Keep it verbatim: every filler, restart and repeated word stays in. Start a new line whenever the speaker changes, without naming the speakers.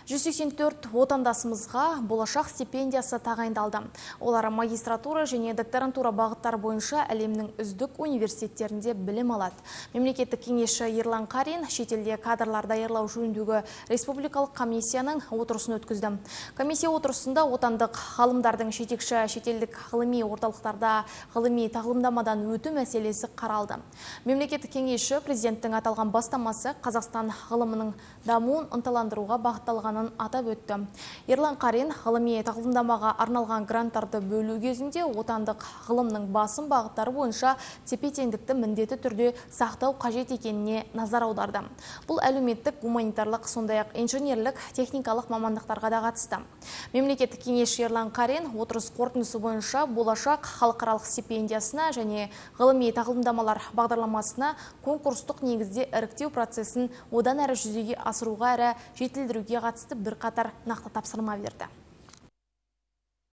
жүз сексен төрт отандасымызға болашақ стипендиясы тағайындалды. Олар магистратура және докторантура бағыттары бойынша әлемнің үздік университеттерінде білім алады. Мемлекеттік кеңесші Ерлан Қарин шетелде кадрлар даярлау жөніндегі республикалық комиссияның отырысын өткізді. Комиссия отырысында отандық ғалымдардың жетекші шетелдік ғылыми орталықтарда ғылыми тағылымдамадан өту мәселесі қаралды. Мемлекеттік кеңесші президенттің аталған бастамасы Қазақстан ғылымының дамуын ынталандыруға бағытталғанын атап өтті. Ерлан Қарин ғылыми тағылымдамаға арналған гранттарды бөлу кезінде отандық ғылымның басым бағыттары бойынша тепе-теңдікті міндетті түрде сақтау қажет екеніне назар аударды. Бұл әлеуметтік, гуманитарлық, сондай-ақ инженерлік, техникалық мамандықтарға да қатысты. Мемлекеттік кеңесші Ерлан Қарин отырыс қорытындысы бойынша болашақ халықаралық стипендиясына және ғылыми тағылымдамалар бағдарламасына конкурстық негізде іріктеу процесін одан әрі жүзеге асыруға әрі жетілдіруге қатысты бірқатар нақты тапсырма берді.